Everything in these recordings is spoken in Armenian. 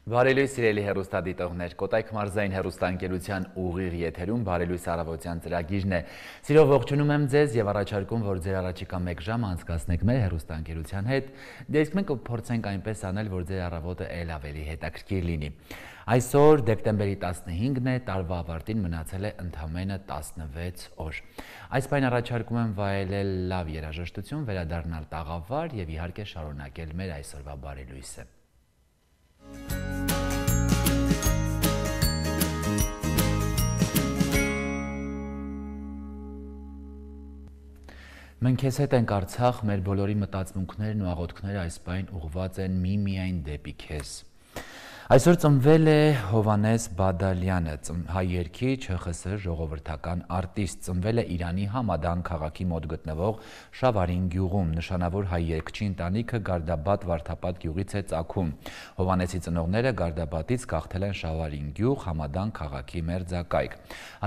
Բարելույս սիրելի հեռուստադիտողներ, Կոտայք մարզային հեռուստաընկերության ուղիղ եթերում բարելույս առավոտյան ծրագիրն է։ Սիրով ողջունում եմ ձեզ եւ առաջարկում, որ ձեր առաջիկա 1 ժամ անցկացնեք մեր հեռուստաընկերության հետ։ Դե իսկ մենք կփորձենք այնպես անել, որ ձեր առավոտը ել ավելի հետաքրքիր լինի։ Այսօր դեկտեմբերի 15-ն է, տարվա ավարտին մնացել է ընդամենը 16 օր։ Այս պայն առաջարկում եմ վայելել լավ երաժշտություն, վերադառնալ տաղավար եւ իհարկե շարունակել մեր այսօրվա բարելույսը։ Մենք քեզ հետ ենք Արցախ, մեր բոլորի մտածմունքներն ու աղոթքները այս պայն ուղղված են միմիայն դեպի քեզ։ Այսօր ծնվել է Հովհաննես Բադալյանը, հայ երգիչ, ՀԽՍՀ ժողովրդական արտիստ, ծնվել է Իրանի Համադան քաղաքի մոտ գտնվող Շավարին գյուղում, նշանավոր հայ երգչի ընտանիքը Գարդաբադ Վարդապատ գյուղից է ծագում։ Հովհաննեսի ծնողները Գարդաբադից գաղթել են Շավարին գյուղ, Համադան քաղաքի մերձակայք։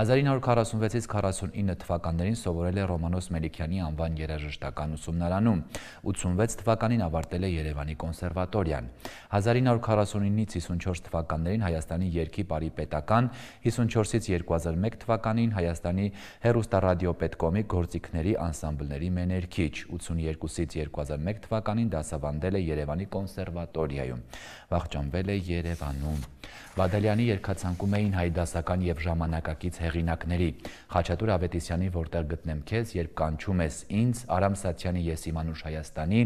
1946-ից 49 թվականներին սովորել է Ռոմանոս Մելիքյանի անվան երաժշտական ուսումնարանում, 86 թվականին ավարտել է Երևանի կոնսերվատորիան։ 1949-ից 54 թվականներին Հայաստանի երգի բարի պետական, 54-ից 2001 թվականին Հայաստանի հեռուստառադիոպետկոմի գործիքների անսամբլների մեներքիչ, 82-ից 2001 թվականին դասավանդել է Երևանի կոնսերվատորիայում, վախճանվել է Երևանում։ Բադալյանի երգացանկում էին հայ դասական եւ ժամանակակից հեղինակների Խաչատուր Ավետիսյանի «Որտեղ գտնեմ քեզ», երբ կանչում ես ինձ, Արամ Սաթյանի «Ես իմ անուշ Հայաստանի»,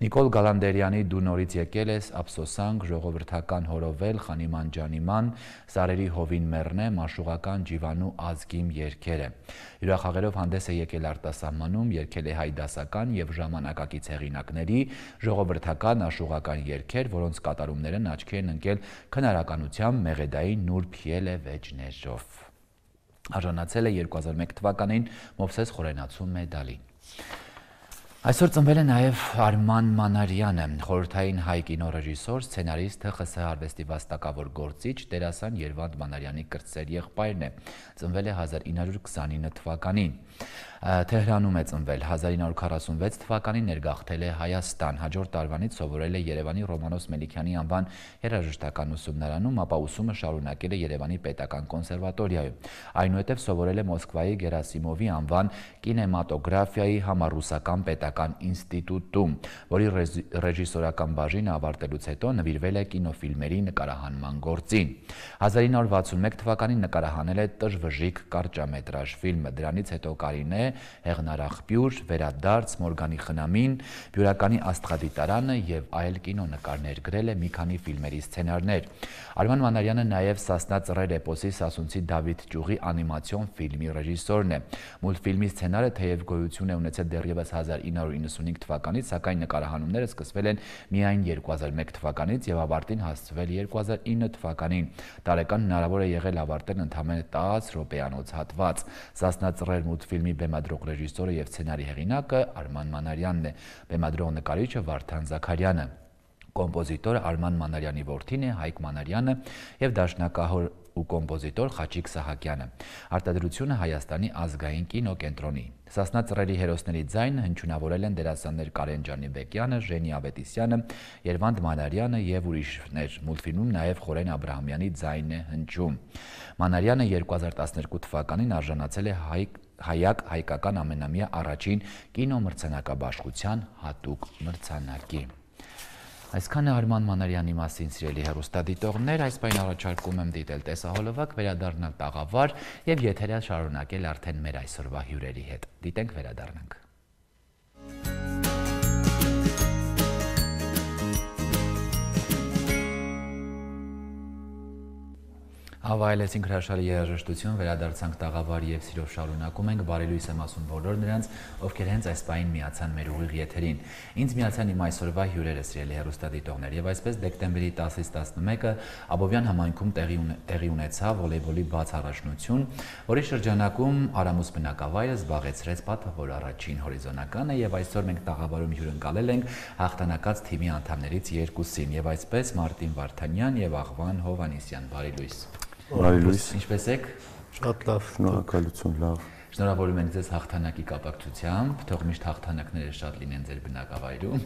Նիկոլ Գալանդերյանի «Դու նորից եկել ես», Ափսոսանք, ժողովրդական հորովել, Խանիման ջանիման, Սարերի հովին մեռնե, Մաշուղական Ջիվանու ազգիմ երգերը։ Հյուրախաղերով հանդես է եկել արտասահմանում, երգել է հայ դասական եւ ժամանակակից հեղինակների ժողովրդական աշուղական երգեր, որոնց կատարումներն աչքի են ընկել քնարականությամբ Մեղեդայի Նուրբ Ելե վեճներով։ Արժանացել է 2001 թվականին Մովսես Խորենացու մեդալի։ Այսօր ծնվել է նաև Արման Մանարյանը, խորհրդային հայ կինոռեժիսոր, սցենարիստ, ՀԽՍՀ արվեստի վաստակավոր գործիչ, դերասան Երվանդ Մանարյանի կրտսեր եղբայրն է։ Ծնվել է 1929 թվականին։ Թեհրանում է ծնվել, 1946 թվականին ներգաղթել է Հայաստան, հաջորդ տարվանից սովորել է Երևանի Ռոմանոս Մելիքյանի անվան երաժշտական ուսումնարանում, ապա ուսումը շարունակել է Երևանի պետական կոնսերվատորիայում։ Այնուհետև սովորել է Մոսկվայի Գերասիմովի անվան կինեմատոգրաֆիայի համառուսական պետական ինստիտուտում, որի ռեժիսորական բաժինը ավարտելուց հետո նվիրվել է կինոֆիլմերի նկարահանման գործին։ 1961 թվականին նկարահանել է Տժվժիկ կարճամետրաժ ֆիլմը, դրանից հետո Կարինե, Հեղնարախպյուր, Վերադարձ, Մորգանի խնամին, Բյուրականի աստղադիտարանը եւ այլ կինոնկարներ, գրել է մի քանի ֆիլմերի սցենարներ։ Արման Մանարյանը նաև Սասնա ծռեր էպոսի Սասունցի Դավիթ Ճյուղի անիմացիոն ֆիլմի ռեժիսորն է։ Մուլտֆիլմի սցենարը թեև գոյություն է ունեցել դեռևս 1995 թվականից, սակայն նկարահանումները սկսվել են միայն 2001 թվականից եւ ավարտին հասցվել 2009 թվականին։ Տարեկան հնարավոր է եղել ավարտել ընդամենը 10 րոպեանոց հատված։ Սասնա ծռեր մուլտֆիլմի բեմադրող ռեժիսորը եւ սցենարի հեղինակը Արման Մանարյանն է, բեմադրող նկարիչը Վարդան Զաքարյանը։ Կոմպոզիտորը Արման Մանարյանի որդին է Հայկ Մանարյանը եւ դաշնակահոր ու կոմպոզիտոր Խաչիկ Սահակյանը։ Արտադրությունը Հայաստանի ազգային կինոկենտրոնի։ Սասնա ծռերի հերոսների ձայնը հնչյունավորել են դերասաններ Կարեն Ջանիբեկյանը, Ժենի Ավետիսյանը, Երվանդ Մանարյանը եւ ուրիշներ։ Մուլտֆիլմում նաեւ Խորեն Աբրահամյանի ձայնն է հնչում։ Մանարյանը 2012 թվականին արժանացել է Հայակ հայկական ամենամյա առաջին կինոմրցանակաբաշխության հատուկ մրցանակի։ Այսքանը Արման Մանարյանի մասին, սիրելի հեռուստադիտողներ, այս պայն առաջարկում եմ դիտել տեսահոլովակ, վերադառնալ տաղավար եւ եթերը շարունակել արդեն մեր այսօրվա հյուրերի հետ։ Դիտենք, վերադառնանք։ Ավայելեցինք հրաշալի երաժշտություն, վերադարձանք տաղավար եւ սիրով շարունակում ենք, բարելույս եմ ասում բոլոր նրանց, ովքեր հենց այս պահին միացան մեր ուղիղ եթերին։ Ինձ միացան իմ այսօրվա հյուրերը, սիրելի հեռուստադիտողներ, եւ այսպես դեկտեմբերի 10-ից 11-ը Աբովյան համայնքում տեղի ունեցավ վոլեյբոլի բաց առաջնություն, որի շրջանակում Արամուս բնակավայրը զբաղեցրեց պատվավոր առաջին հորիզոնականը եւ այսօր մենք տաղավարում հյուրընկալել ենք հաղթանակած թիմի անդամներից երկուսին եւ այսպես Մարտին Վարդանյան եւ Աղվան Հովհաննիսյան, բարելույս։ Բարելույս։ Ինչպես եք։ Շատ լավ, շնորհակալություն, լավ։ Շնորհավորում ենք ձեզ հաղթանակի կապակցությամբ, թող միշտ հաղթանակները շատ լինեն ձեր բնակավայրում։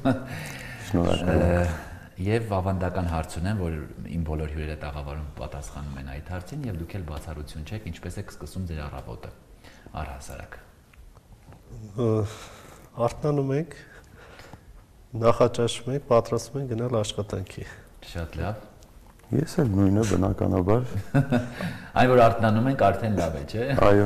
Շնորհակալ եմ։ Եվ ավանդական հարց ունեմ, որ իմ բոլոր հյուրերը տաղավարում պատասխանում են այդ հարցին եւ դուք էլ բացառություն չեք, ինչպես եք սկսում ձեր առավոտը։ Առհասարակ։ Արթնանում ենք, նախաճաշում ենք, պատրաստվում ենք գնալ աշխատանքի։ Շատ լավ։ Ես էլ նույնը բնականաբար։ Այն որ արթնանում ենք, արդեն լավ է, չէ՞։ Այո։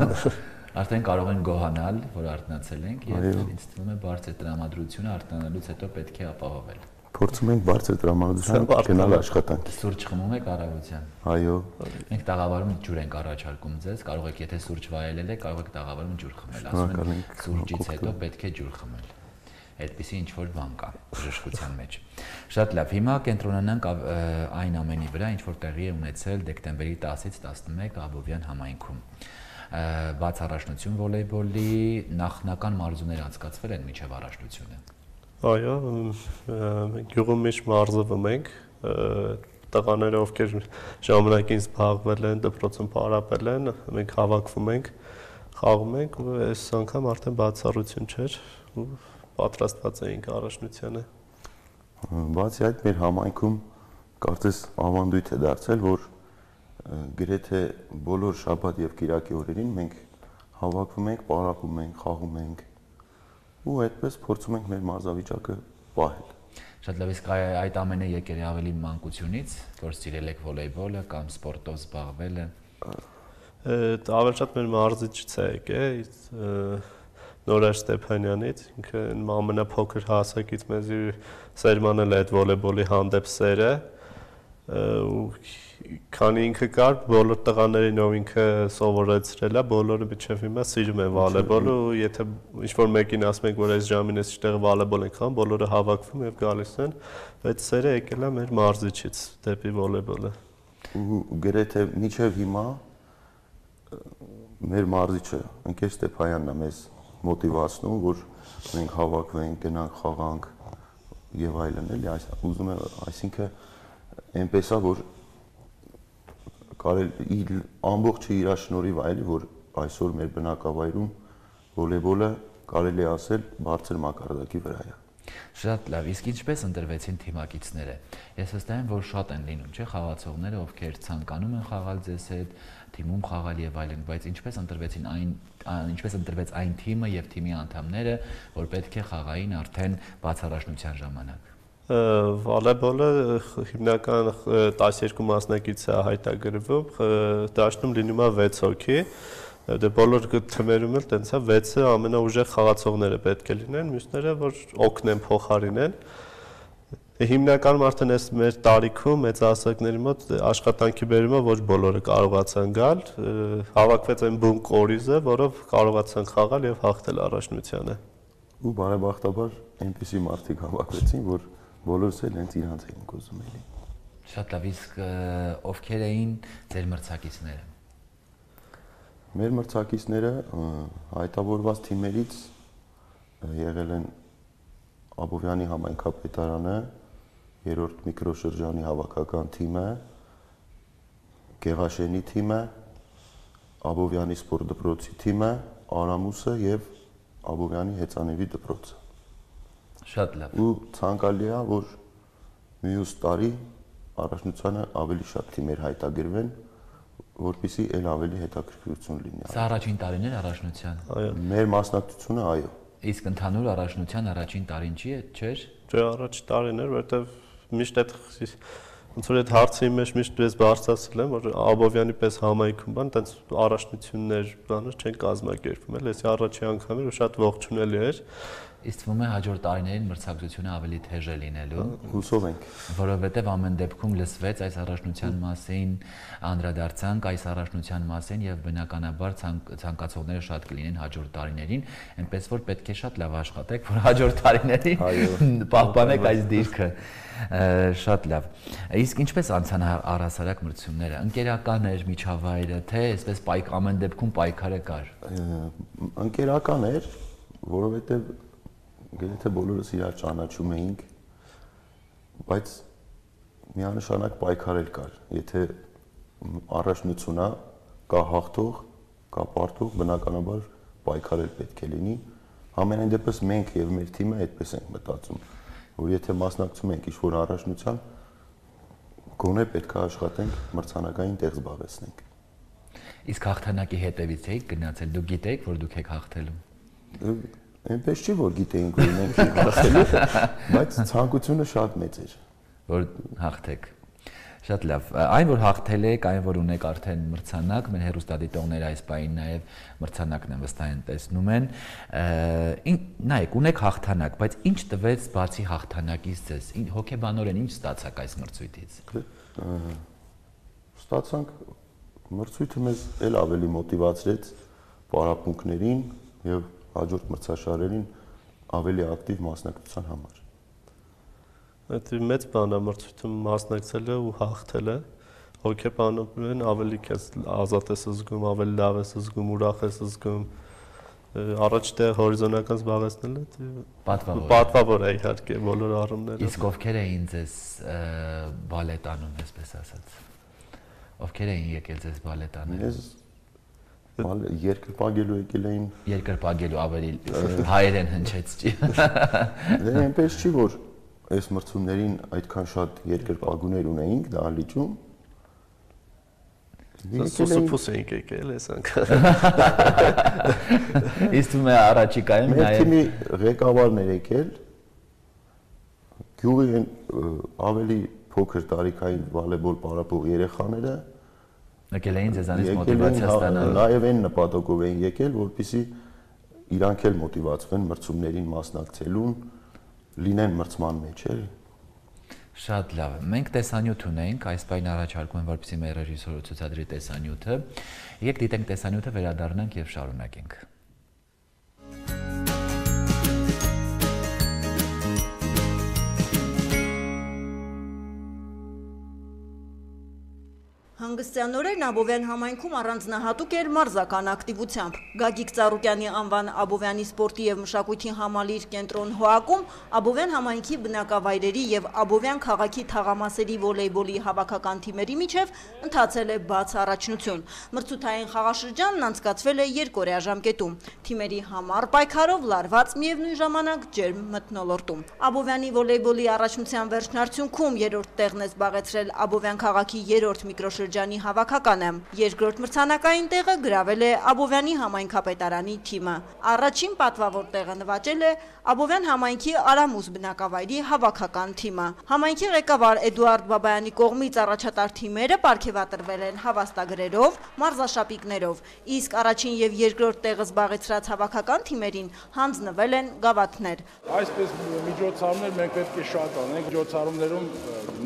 Արդեն կարող ենք գոհանալ, որ արթնացել ենք եւ ինձ թվում է բարձր տրամադրությունը արթնանալուց հետո պետք է ապահովել։ Փորձում ենք բարձր տրամադրությամբ գնալ աշխատանքի։ Սուրճ խմում եք առավոտյան։ Այո։ Մենք տաղավարում ջուր ենք առաջարկում ձեզ, կարող եք եթե սուրճ վայելել եք, կարող եք տաղավարում ջուր խմել, ասում են սուրճից հետո պետք է ջուր խմել։ Այդպիսի ինչ որ բան կա բժշկության մեջ։ Շատ լավ, հիմա կենտրոնանանք այն ամենի վրա, ինչ որ տեղի է ունեցել դեկտեմբերի 10-ից 11 Աբովյան համայնքում։ Բաց առաջնություն վոլեյբոլի նախնական մարզումներ անցկացվել են մինչև առաջնությունը։ Այո, գյուղում միշտ մարզվում ենք, տղաները ովքեր ժամանակին զբաղվել են, դպրոցում պարապել են, մենք հավաքվում ենք, խաղում ենք, ու այս անգամ արդեն բացառություն չէր, ու պատրաստված էինք առաջնությանը։ Բացի այդ, մեր համայնքում կարծես ավանդույթ է դարձել, որ գրեթե բոլոր շաբաթ եւ կիրակի օրերին մենք հավաքվում ենք, պարապում ենք, խաղում ենք ու այդպես փորձում ենք մեր մարզավիճակը պահել։ Շատ լավ, իսկ այդ ամենը եկել է ավելի մանկությունից, որ սիրել եք վոլեյբոլը կամ սպորտով զբաղվելը։ Ավելի շատ մեր մարզիչից է եկել, Նորայր Ստեփանյանից, ինքը ամենափոքր հասակից մեզի սերմանել է այդ վոլեյբոլի հանդեպ սերը, ու քանի ինքը կար, բոլոր տղաներին ով ինքը սովորեցրել է, բոլորը մինչև հիմա սիրում են վոլեյբոլը, ու եթե ինչ-որ մեկին ասում ենք, որ այս ժամին այս տեղը վոլեյբոլ ենք խաղում, բոլորը հավաքվում եւ գալիս են, այդ սերը եկել է մեր մարզիչից դեպի վոլեյբոլը։ Ու գրեթե մինչև հիմա մեր մարզիչը ընկեր Ստեփանյանն է մեզ մոտիվացնում, որ մենք հավաքվենք, գնանք խաղանք եւ այլն, էլի, ուզում եմ, այսինքն այնպես է, որ կարելի ամբողջը իր շնորհիվ է, որ այսօր մեր բնակավայրում վոլեյբոլը կարելի է ասել բարձր մակարդակի վրա է։ Շատ լավ, իսկ ինչպես ընտրվեցին թիմակիցները։ Ես վստահ եմ, որ շատ են լինում, չէ՞, խաղացողները, ովքեր ցանկանում են խաղալ ձեզ հետ, թիմում խաղալ եւ այլն, բայց ինչպես ընտրվեց այն թիմը եւ թիմի անդամները, որ պետք է խաղային արդեն բացառաշնության ժամանակ։ Վոլեյբոլը հիմնական 12 մասնակից է հայտագրվում, դաշտում լինում է 6 հոգի, դե բոլոր թիմերում էլ տենց է 6-ը ամենաուժեղ խաղացողները պետք է լինեն, մյուսները որ օգնեն փոխարինեն։ Հիմնականում արդեն այս մեր տարիքում մեծահասակների մոտ աշխատանքի բերումը ոչ բոլորը կարողացան գալ, հավաքվեց այն բուն կորիզը, որով կարողացան խաղալ եւ հաղթել առաջնությանը։ Ու բարեբախտաբար այնպիսի մարդիկ հավաքվեցին, որ բոլորս էլ հենց իրանց էին ուզում էլի։ Շատ լավ, իսկ ովքեր էին ձեր մրցակիցները։ Մեր մրցակիցները հայտավորված թիմերից եղել են Աբովյանի համայնքապետարանը, 3-րդ միկրոշրջանի հավաքական թիմը, Գեղաշենի թիմը, Աբովյանի սպորտ դպրոցի թիմը, Արամուսը եւ Աբովյանի հեծանեվի դպրոցը։ Շատ լավ։ Ու ցանկալի է, որ մյուս տարի առաջնությանը ավելի շատ թիմեր հայտագրվեն, որպեսզի ել ավելի հետաքրքրություն լինի։ Սա առաջին տարին էր առաջնության։ Այո։ Մեր մասնակցությունը այո։ Իսկ ընդհանուր առաջնության առաջին տարին չի է, չէ՞։ Չէ, առաջին տարին էր, որովհետև միշտ այդ ոնց որ այդ հարցի մեջ միշտ ես բարձրացել եմ, որ Աբովյանի պես համայնքում բան, տենց առաջնություններ բաներ չեն կազմակերպվում, էլ էսի առաջի անգամ էր ու շատ ողջունելի էր։ Իսկ թվում է հաջորդ տարիներին մրցակցությունը ավելի թեժ է լինելու։ Հուսով ենք։ Որովհետև ամեն դեպքում լսվեց այս առաջնության մասին, անդրադարձանք այս առաջնության մասին եւ բնականաբար ցանկացողները շատ կլինեն հաջորդ տարիներին, այնպես որ պետք է շատ լավ աշխատեք, որ հաջորդ տարիներին պահպանեք այս դիրքը։ Շատ լավ։ Իսկ ինչպես անցան առհասարակ մրցումները։ Ընկերական էր միջավայրը, թե այսպես ամեն դեպքում պայքարը կար։ Ընկերական էր, որովհետև գրեթե բոլորս իրար ճանաչում էինք, բայց միանշանակ պայքարել կար։ Եթե առաջնությունա կա հաղթող, կա պարտող, բնականաբար պայքարել պետք է լինի։ Համենայն դեպս մենք եւ մեր թիմը այդպես ենք մտածում։ որ եթե մասնակցում ենք ինչ-որ առաջնության, գոնե պետք է աշխատենք մրցանակային տեղ զբաղեցնենք։ Իսկ հաղթանակի հետևից եք գնացել, դուք գիտեք, որ դուք եք հաղթելու։ Այնպես չի, որ գիտեինք, որ մենք ենք հաղթելու, բայց ցանկությունը շատ մեծ էր, որ հաղթեք։ Շատ լավ։ Այն որ հաղթել եք, այն որ ունեք արդեն մրցանակ, մեր հեռուստադիտողները այս պահին նաև մրցանակն են վստահեն տեսնում են։ Նայեք, ունեք հաղթանակ, բայց ինչ տվեց բացի հաղթանակից ձեզ։ Հոգեբանորեն ինչ ստացաք այս մրցույթից։ Ստացանք մրցույթը մեզ էլ ավելի մոտիվացրեց պարապմունքներին եւ հաջորդ մրցաշարերին ավելի ակտիվ մասնակցության համար։ Այդ մեծ բան է մրցույթում մասնակցելը ու հաղթելը, հոգեբանորեն ավելի քեզ ազատ ես զգում, ավելի լավ ես զգում, ուրախ ես զգում, առաջ դե հորիզոնական զբաղեցնելը պատվավոր է իհարկե բոլոր առումներով։ Իսկ ովքեր էին ձեզ բալետանում, այսպես ասած։ Ովքեր էին եկել ձեզ բալետանել։ Երկրպագելու եկել էին։ Երկրպագելու ավելի հայերեն հնչեց չի։ Դե այնպես չի, որ այս մրցումներին այդքան շատ երկրպագուներ ունեինք դահլիճում։ Սուսուփուս էինք եկել այս անգամ։ Իսկ դու առաջիկայում մեր թիմի ղեկավարն էր եկել։ Գյուղի ավելի փոքր տարիքային վոլեյբոլ պարապող երեխաները եկել էին ձեզանից մոտիվացիա ստանալու։ Նաև այն նպատակով էին եկել, որպեսզի իրանք էլ մոտիվացվեն մրցումներին մասնակցելուն, լինեն մրցման մեջ էլ։ Շատ լավ։ Մենք տեսանյութ ունենք, այս պայն առաջարկում եմ, որպեսզի մեր ռեժիսորը ցուցադրի տեսանյութը։ Եկեք դիտենք տեսանյութը, վերադառնանք եւ շարունակենք։ Հանգստյանորեն Աբովյան համայնքում առանձնահատուկ էր մարզական ակտիվությամբ։ Գագիկ Ծառուկյանի անվան Աբովյանի սպորտի եւ մշակույթի համալիր կենտրոն ՀՕԱԿ-ում Աբովյան համայնքի բնակավայրերի եւ Աբովյան քաղաքի թաղամասերի վոլեյբոլի հավաքական թիմերի միջև ընթացել է բաց առաջնություն։ Մրցութային խաղաշրջանն անցկացվել է երկօրյա ժամկետում։ Թիմերի համառ պայքարով լարված միևնույն ժամանակ ջերմ մթնոլորտում։ Աբովյանի վոլեյբոլի առաջնության վերջնարդյունքում երրորդ տեղն է զբաղեցրել Աբովյան քաղաքի երրորդ միկրոշրջանի հավաքականը։ Երկրորդ մրցանակային տեղը գրավել է Աբովյանի համայնքապետարանի թիմը։ Առաջին պատվավոր տեղը նվաճել է Աբովյան համայնքի Արամուս բնակավայրի հավաքական թիմը։ Համայնքի ղեկավար Էդուարդ Բաբայանի կողմից առաջատար թիմերը պարգևատրվել են հավաստագրերով, մարզաշապիկներով, իսկ առաջին եւ երկրորդ տեղը զբաղեցրած հավաքական թիմերին հանձնվել են գավաթներ։ Այսպես միջոցառումներ մենք պետք է շատ անենք, միջոցառումներում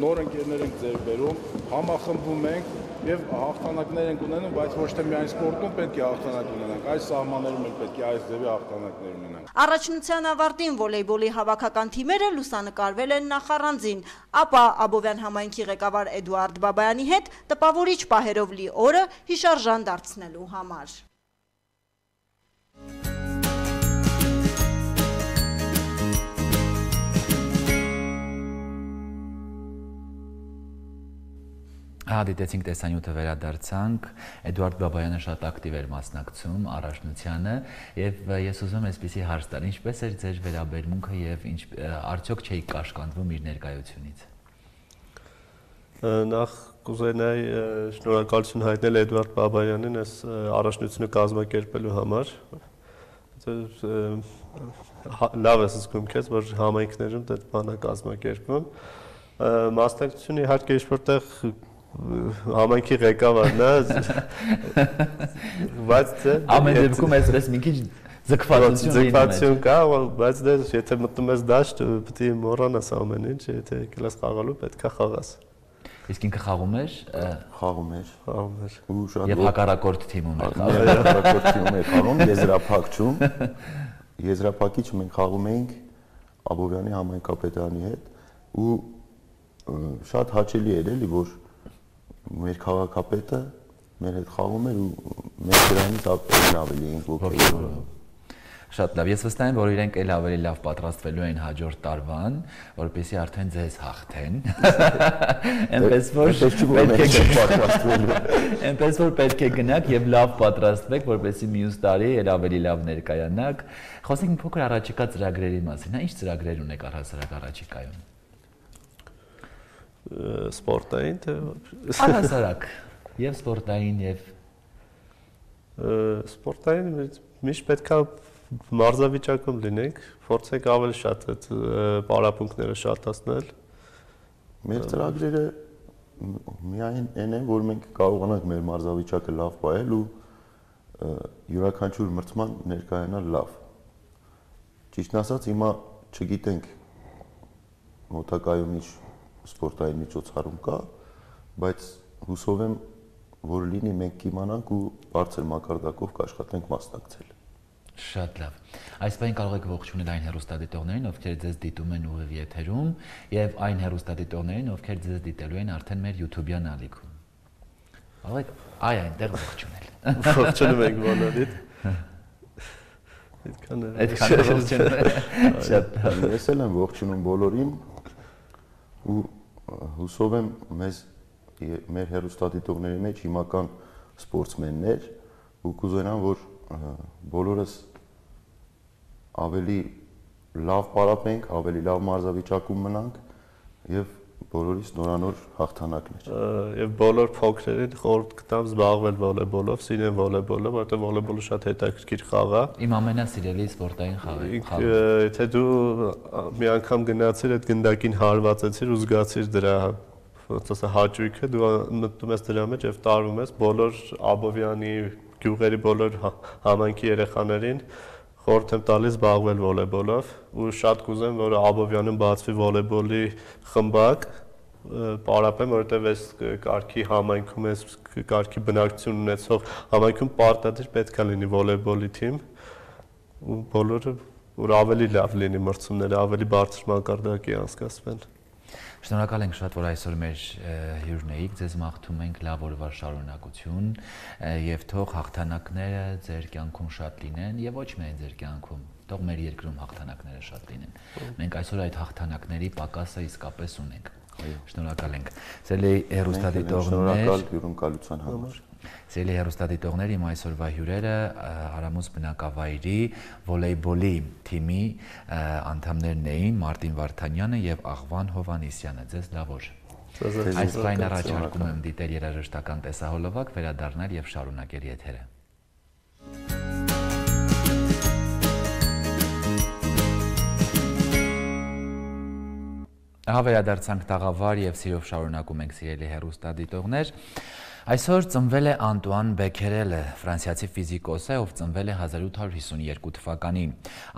նոր ընկերներ ենք ձեռք բերում, համախմբում ենք եւ հաղթանակներ ենք ունենում, բայց ոչ թե միայն սպորտում պետք է հաղթանակ ունենանք, այս սահմաններում էլ պետք է այս ձևի հաղթանակներ ունենանք։ Առաջնության ավարտին վոլեյբոլի հավաքական թիմերը լուսանկարվել են նախառանձին, ապա Աբովյան համայնքի ղեկավար Էդուարդ Բաբայանի հետ տպավորիչ պահերով լի օրը հիշարժան դարձնելու համար։ Դիտեցինք տեսանյութը, վերադարձանք, Էդուարդ Բաբայանը շատ ակտիվ էր մասնակցում առաջնությանը եւ ես ուզում եմ այսպեսի հարց տալ, ինչպես էր ձեր վերաբերմունքը եւ արդյոք չէի կաշկանդվում իր ներկայությունից։ Նախ կուզենայի շնորհակալություն հայտնել Էդուարդ Բաբայանին այս առաջնությունը կազմակերպելու համար։ Լավ ես զգում քեզ, որ համայնքներում դա բանը կազմակերպում։ Մասնակցությունը իհարկե ինչ-որտեղ համայնքի ղեկավարն է, բայց ամեն դեպքում այսպես մի քիչ ձգվածություն կա, բայց դե եթե մտնում ես դաշտ, պետք է մոռանաս ամեն ինչ, եթե եկել ես խաղալու, պետք է խաղաս։ Իսկ ինքը խաղում էր։ Ու շատ եւ հակառակորդ թիմում էր խաղում։ Հակառակորդ թիմում էր խաղում եզրափակչում։ Եզրափակիչ մենք խաղում էինք Աբովյանի համայնքապետարանի հետ ու շատ հաճելի էր էլի, որ մեր քաղաքապետը մեր հետ խաղում էր ու մենք դրանից ավելի էինք ոգևորվում։ Շատ լավ։ Ես վստահ եմ, որ իրենք էլ ավելի լավ պատրաստվելու են հաջորդ տարվան, որպեսզի արդեն ձեզ հաղթեն։ Այնպես որ պետք է գնաք եւ լավ պատրաստվեք, որպեսզի մյուս տարի էլ ավելի լավ ներկայանաք։ Խոսենք մի փոքր առաջիկա ծրագրերի մասին։ Ինչ ծրագրեր ունեք առհասարակ առաջիկայում։ Սպորտային թե առհասարակ եւ սպորտային եւ սպորտային միշտ պետք է մարզավիճակում լինենք, փորձենք ավելի շատ այդ պարապմունքները շատացնել։ Մեր ծրագրերը միայն այն են, որ մենք կարողանանք մեր մարզավիճակը լավ պահել ու յուրաքանչյուր մրցման ներկայանալ լավ։ Ճիշտն ասած, հիմա չգիտենք մոտակայում ինչ սպորտային միջոցառում կա, բայց հուսով եմ, որ լինի մենք կիմանանք ու բարձր մակարդակով կաշխատենք մասնակցել։ Շատ լավ։ Այս պահին կարող եք ողջունել այն հեռուստադիտողներին, ովքեր ձեզ դիտում են ուղիղ եթերում, եւ այն հեռուստադիտողներին, ովքեր ձեզ դիտելու են արդեն մեր YouTube-յան ալիքում։ Կարող եք այնտեղ ողջունել։ Ողջունում ենք բոլորիդ։ Այդքան ողջունում։ Շատ լավ։ Ես էլ եմ ողջունում բոլորին ու հուսով եմ մեր հեռուստադիտողների մեջ հիմական սպորտսմեններ ու կուզենամ, որ բոլորս ավելի լավ պարապենք, ավելի լավ մարզավիճակում մնանք եւ բոլորիս նորանոր հաղթանակներ։ Եվ բոլոր փոքրերին խորհուրդ կտամ զբաղվել վոլեբոլով, սիրեն վոլեբոլը, որովհետեւ վոլեբոլը շատ հետաքրքիր խաղ է։ Իմ ամենասիրելի սպորտային խաղը։ Եթե դու մի անգամ գնացիր այդ գնդակին հարվածեցիր ու զգացիր դրա հաճույքը, դու մտնում ես դրա մեջ եւ տարվում ես բոլոր Աբովյանի գյուղերի բոլոր համայնքի երեխաներին խորհուրդ եմ տալիս զբաղվել վոլեբոլով ու շատ կուզեմ, որ Աբովյանում բացվի վոլեբոլի խմբակ, պարապեմ, որովհետեւ այս կարգի համայնքում այս կարգի բնակչություն ունեցող համայնքում պարտադիր պետք է լինի վոլեբոլի թիմ ու բոլորը որ ավելի լավ լինի մրցումները, ավելի բարձր մակարդակի անցկացվեն։ Շնորհակալ ենք շատ, որ այսօր մեր հյուրն էիք, ձեզ մաղթում ենք լավ օրվա շարունակություն եւ թող հաղթանակները ձեր կյանքում շատ լինեն եւ ոչ միայն ձեր կյանքում, թող մեր երկրում հաղթանակները շատ լինեն։ Մենք այսօր այդ հաղթանակների պակասը իսկապես ունենք։ Շնորհակալ ենք։ Սիրելի հեռուստադիտողներ, շնորհակալ հյուրընկալության համար։ Սիրելի հեռուստադիտողներ, իմ այսօրվա հյուրերը Արամուս բնակավայրի վոլեյբոլի թիմի անդամներն էին Մարտին Վարդանյանը եւ Աղվան Հովհաննիսյանը։ Ձեզ լավ օր։ Այս պայն առաջարկում եմ դիտել երաժշտական տեսահոլովակ, վերադառնալ եւ շարունակել եթերը։ Ահա վերադարձանք տաղավար եւ սիրով շարունակում ենք սիրելի հեռուստադիտողներ։ Այսօր ծնվել է Անտուան Բեքերելը, ֆրանսիացի ֆիզիկոս է, ով ծնվել է 1852 թվականին։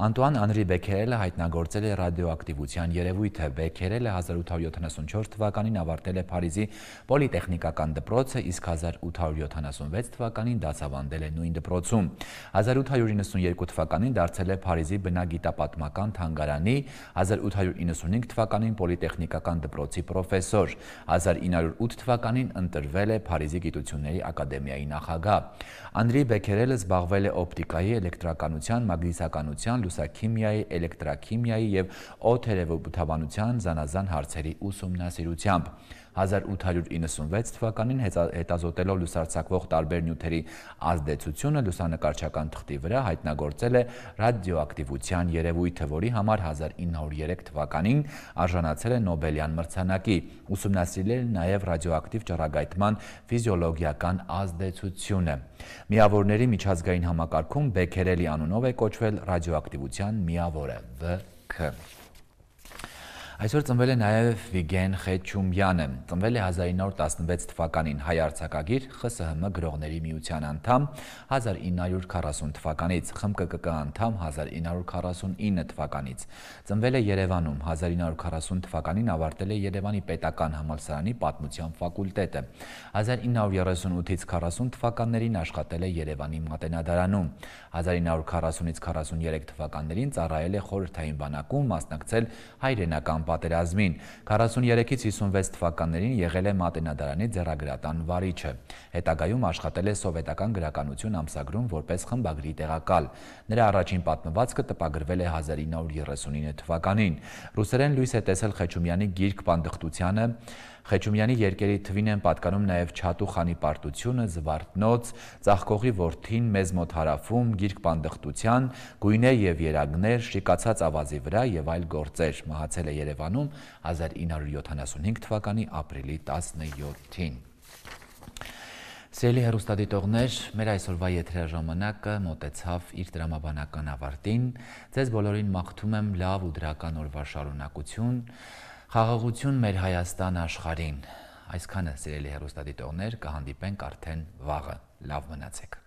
Անտուան Անրի Բեքերելը հայտնագործել է ռադիոակտիվության երևույթը։ Բեքերելը 1874 թվականին ավարտել է Փարիզի պոլիտեխնիկական դպրոցը, իսկ 1876 թվականին դասավանդել է նույն դպրոցում։ 1892 թվականին դարձել է Փարիզի բնագիտապատմական թանգարանի, 1895 թվականին պոլիտեխնիկական դպրոցի պրոֆեսոր, 1908 թվականին ընտրվել է Փարիզի Գիտությունների ակադեմիայի նախագահ։ Անրի Բեքերելը զբաղվել է օպտիկայի, էլեկտրականության, մագնիսականության, լուսաքիմիայի, էլեկտրաքիմիայի եւ օդերևութաբանության զանազան հարցերի ուսումնասիրությամբ։ 1896 թվականին հետազոտելով լուսարձակվող տարբեր նյութերի ազդեցությունը լուսանկարչական թղթի վրա հայտնագործել է ռադիոակտիվության երևույթը, որի համար 1903 թվականին արժանացել է Նոբելյան մրցանակի։ Ուսումնասիրել է նաև ռադիոակտիվ ճառագայթման ֆիզիոլոգիական ազդեցությունը։ Միավորների միջազգային համակարգում Բեքերելի անունով է կոչվել ռադիոակտիվության միավորը ՎՔ։ Այսօր ծնվել է նաև Վիգեն Խեչումյանը, ծնվել է 1916 թվականին, հայ արձակագիր, ԽՍՀՄ գրողների միության անդամ 1940 թվականից, ԽՄԿԿ անդամ 1949 թվականից, ծնվել է Երևանում, 1940 թվականին ավարտել է Երևանի պետական համալսարանի պատմության ֆակուլտետը, 1938-ից 40 թվականներին աշխատել է Երևանի մատենադարանում, 1940-ից 43 թվականներին ծառայել է խորհրդային բանակում, մասնակցել հայրենական պատերազմին, 43-ից 56 թվականներին եղել է Մատենադարանի ձեռագրատան վարիչը, հետագայում աշխատել է սովետական գրականություն ամսագրում որպես խմբագրի տեղակալ, նրա առաջին պատմվածքը տպագրվել է 1939 թվականին, ռուսերեն լույս է տեսել Խեչումյանի գիրք Պանդխտությանը, Խեչումյանի երկերի թվին են պատկանում նաև Չատու խանի պարտությունը, Զվարթնոց, Ծաղկողի որդին մեզ մոտ հարավում, գիրք Պանդխտության, Գույներ և երագներ, Շիկացած ավազի վրա և այլ գործեր, մահացել է Երևանում 1975 թվականի ապրիլի 17-ին։ Սիրելի հեռուստադիտողներ, մեր այսօրվա եթերաժամանակը մոտեցավ իր տրամաբանական ավարտին, ձեզ բոլորին մաղթում եմ լավ ու դրական օրվա շարունակություն, խաղաղություն մեր Հայաստան աշխարհին, այսքանը սիրելի հեռուստադիտողներ, կհանդիպենք արդեն վաղը, լավ մնացեք։